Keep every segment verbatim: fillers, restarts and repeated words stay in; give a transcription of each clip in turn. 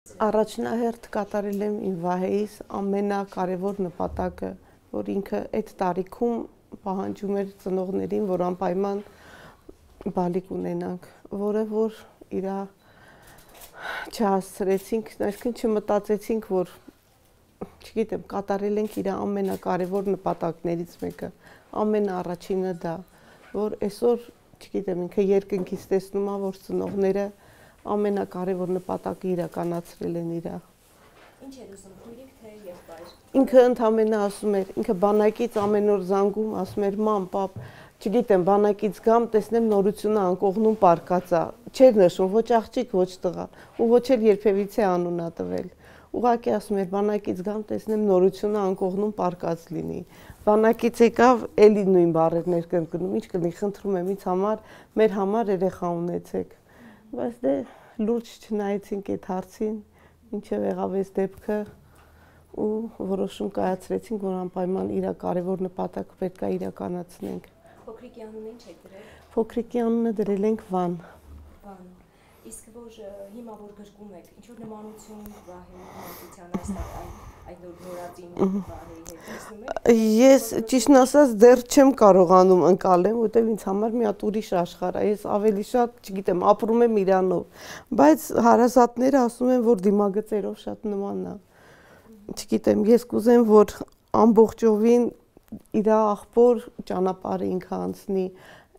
Առաջնահերթ կատարել եմ իմ Վահեիս ամենակարևոր նպատակը, որ ինքը այդ տարիքում պահանջում էր ծնողներին, որ անպայման բալիկ ունենանք, որը որ իրա չհասցրեցինք, այսինքն չմտածեցինք, որ չգիտեմ, կատարել ենք իր ամենակարևոր նպատակներից մեկը, ամենաառաջինը դա, որ այսօր, չգիտեմ, ինքը երկնքից տեսնում է, որ ծնողները ամենակարևոր նպատակը իրականացրել են իրա։ Ինչ էր ուզում, քույրիկ թե եղբայր։ Ինքը ընդամենը ասում էր, ինքը բանակից ամեն օր զանգում, ասում էր՝ մամ, պապ, չգիտեմ, բանակից գամ, տեսնեմ նորությունը անկողնում պարկած է։ Չէր նշում ոչ աղջիկ, ոչ տղա, ու ոչ էլ երբևիցե անուն ա տվել։ Ուղղակի ասում էր՝ բանակից գամ, տեսնեմ նորությունը անկողնում պարկած լինի։ Բանակից եկավ, էլի նույն բառերն էր կրկնում, ինչ կլինի, խնդրում եմ ինձ համար, մեր համար երեխա ունեցեք։ Բայց դե լուրջ չնայեցինք այդ հարցին, ինչև եղավ այս դեպքը ու որոշում կայացրեցինք, որ անպայման իր կարևոր նպատակը պետք է իրականացնենք։ Փոքրիկի անունը ինչ եք դրել։ Փոքրիկի անունը դրել ենք Վան։ Վան։ Իսկ որ հիմա որ գրկում եք, ինչ որ նմանություն Վահեի մանկության այս այդ նորածին Վահեի հետ տեսնում եք։ Ես ճիշտն ասած դեռ չեմ կարողանում ընկալեմ, որտեղ ինձ համար մի հատ ուրիշ աշխարհ է։ Ես ավելի շատ, չգիտեմ, ապրում եմ իրանով, բայց հարազատները ասում են, որ դիմագծերով շատ նման է։ Չգիտեմ, ես կուզեմ, որ ամբողջովին իր աղբոր ճանապարհը ինքը անցնի,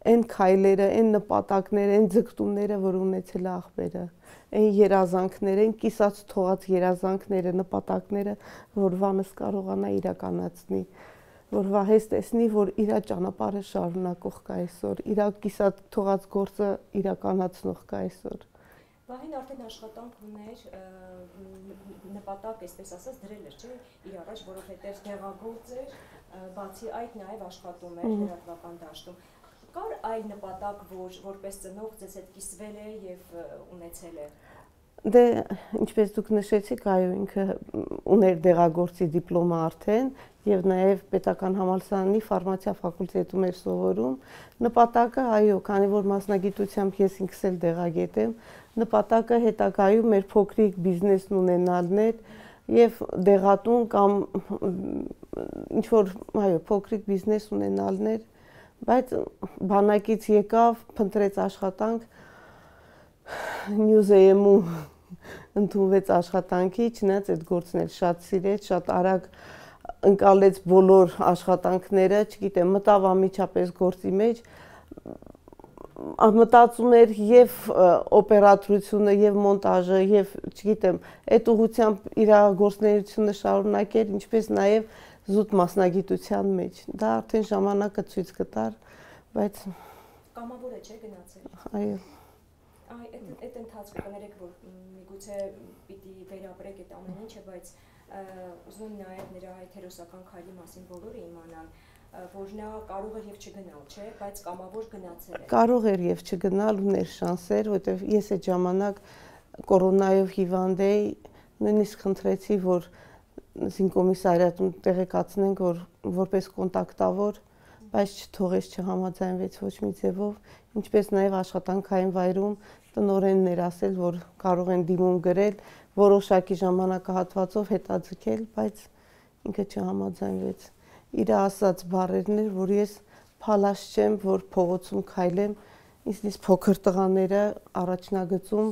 այն քայլերը, այն նպատակները, այն ձգտումները, որ ունեցել է աղբերը, այն երազանքները, այն կիսած թողած երազանքները, նպատակները, որ Վանս կարողանա իրականացնի, որ Վահես տեսնի, որ իր ճանապարհը շարունակող կա այսօր, իր կիսած թողած գործը իրականացնող կա այսօր։ Վահեն արդեն աշխատանք ուներ, նպատակ, այսպես ասած, դրել էր, չէ՞, իր առաջ, որովհետև դեղագործ էր, բացի այդ նաև աշխատում էր լրատվական դաշտում։ Կար այլ նպատակ, որ որպես ծնող ձեզ հետ կիսվել է եւ ունեցել է։ Դե ինչպես դուք նշեցիք, այո, ինքը ուներ դեղագործի դիպլոմը արդեն եւ նաեւ պետական համալսարանի ֆարմացիա ֆակուլտետում էր սովորում։ Նպատակը, այո, քանի որ մասնագիտությամբ ես ինքս էլ դեղագետ եմ, նպատակը հետագայում մեր փոքրիկ բիզնեսն ունենալն էր եւ դեղատուն կամ ինչ որ, այո, փոքրիկ բիզնես ունենալն էր, բայց բանակից եկավ, փնտրեց աշխատանք, Նյուզեյմում ընդունվեց աշխատանքի, չնայած այդ գործն էլ շատ սիրեց, շատ արագ ընկալեց բոլոր աշխատանքները, չգիտեմ, մտավ անմիջապես գործի մեջ, մտածում էր եւ օպերատորությունը, եւ մոնտաժը, եւ չգիտեմ, այդ ուղղությամբ իր գործունեությունը շարունակեր, ինչպես նաեւ զուտ մասնագիտության մեջ։ Դա արդեն ժամանակը ցույց կտար, բայց կամավոր է, չէ՞, գնացել։ Այո։ Այ այդ ընթացքը կներեք, որ միգուցե պիտի վերապրեք այդ ամեն ինչը, բայց ուզում եմ նաև նրա այդ հերոսական քայլի մասին բոլորը իմանան, որ նա կարող էր եւ չգնալ, չէ, բայց կամավոր գնացել է։ Կարող էր եւ չգնալ, ուներ շանսեր, որովհետեւ ես այդ ժամանակ կորոնայով հիվանդ էի, նույնիսկ խնդրեցի, որ զինկոմիսարիատում տեղեկացնենք, որ որպես կոնտակտավոր, բայց չթողեց, չհամաձայնվեց ոչ մի ձևով, ինչպես նաև աշխատանքային վայրում տնօրենն էր ասել, որ կարող են դիմում գրել, որոշակի ժամանակահատվածով հետաձգել, բայց ինքը չհամաձայնվեց։ Իր ասած բառերն էր, որ ես փալաշ չեմ, որ փողոցում քայլեմ, ինձնից փոքր տղաները առաջնագծում,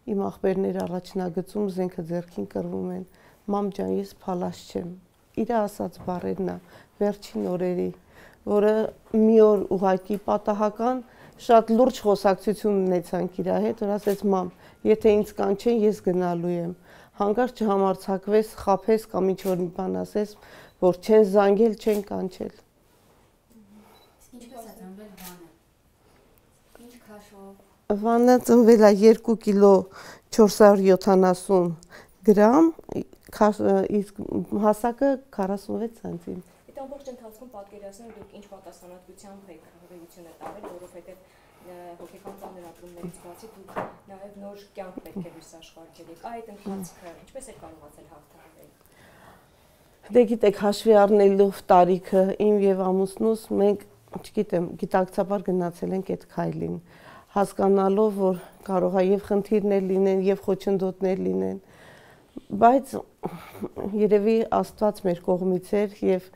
իմ աղբերները առաջնագծում զենքը ձեռքին կռվում են։ Մամ ջան, ես փալաշ չեմ։ Իր ասած բառերն է վերջին օրերի, որը մի օր ուղղակի պատահական շատ լուրջ խոսակցություն ունեցանք իր հետ, որ ասեց մամ, եթե ինձ կանչեն, ես գնալու եմ։ Հանկարծ չհամարձակվես, խաբես կամ ինչ որ մի բան ասես, որ չեն զանգել, չեն կանչել։ Ինչպես է ծնվել Վանը։ Ինչ քաշով։ Վանը ծնվել է երկու կիլո չորս հարյուր յոթանասուն գրամ, իսկ հասակը քառասունվեց սանտիմ։ Այդ ամբողջ ընթացքում պատկերացնեմ դուք ինչ պատասխանատվությամբ եք հղիությունը տարել, որովհետև հոգեկան ծանրապետումներից բացի դուք նաև նոր կյանք պետք է լույս աշխարհել եք։ Այդ ընթացքը ինչպես եք կարողացել հաղթահարել։ Դե գիտեք, հաշվի առնելով տարիքը իմ եւ ամուսնուս, մենք, չգիտեմ, գիտակցաբար գնացել ենք այդ քայլին, հասկանալով, որ կարող է եւ խնդիրներ լինեն, եւ խոչընդոտներ լինեն, Բայց երևի Աստված մեր կողմից էր եւ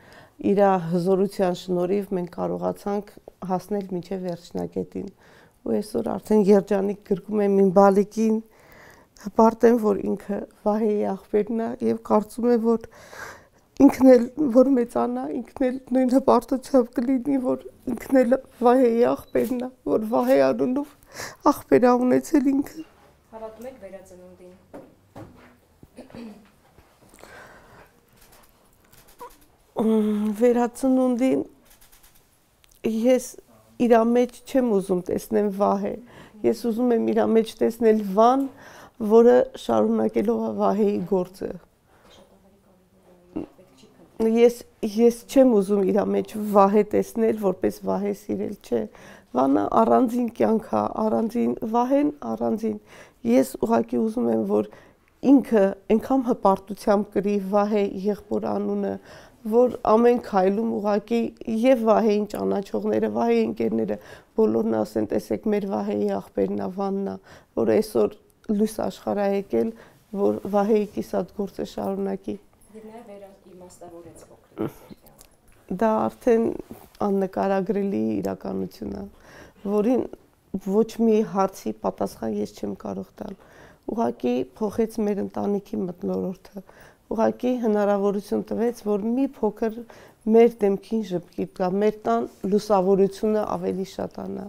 իր հզորության շնորհիվ մենք կարողացանք հասնել մինչև վերջնակետին։ Ու այսօր արդեն երջանիկ գրկում եմ իմ բալիկին, հպարտեմ, որ ինքը Վահեի աղբերն է եւ կարծում եմ, որ ինքն էլ որ մեծանա, ինքն էլ նույն հպարտությամբ կլինի, որ ինքն էլ Վահեի աղբերն է, որ Վահե անունով աղբեր ա ունեցել ինքը։ Հավատում եք վերածնունդին։ Վերածնունդին ես իր մեջ չեմ ուզում տեսնեմ Վահե։ Ես ուզում եմ իր մեջ տեսնել Վան, որը շարունակելով է Վահեի գործը։ Ես ես չեմ ուզում իր մեջ Վահե տեսնել, որպես Վահե սիրել, չէ։ Վանը առանձին կյանք է, առանձին Վահեն, առանձին։ Ես ուղղակի ուզում եմ, որ ինքը այնքան հպարտությամբ կրի Վահե եղբոր անունը, որ ամեն քայլում ուղղակի եւ Վահեին ճանաչողները, Վահեի ընկերները բոլորն ասեն, տեսեք, մեր Վահեի աղբերն է, Վանն է, որ այսօր լույս աշխարհ է եկել, որ Վահեի կիսատ գործը շարունակի։ Եվ նաեւ վերաիմաստավորեց փոքրից։ Դա արդեն աննկարագրելի իրականություն է, որին ոչ մի հարցի պատասխան ես չեմ կարող տալ։ Ուղղակի փոխեց մեր ընտանիքի մթնոլորտը։ Ուղղակի հնարավորություն տվեց, որ մի փոքր մեր դեմքին ժպիտ գա, մեր տան լուսավորությունը ավելի շատանա։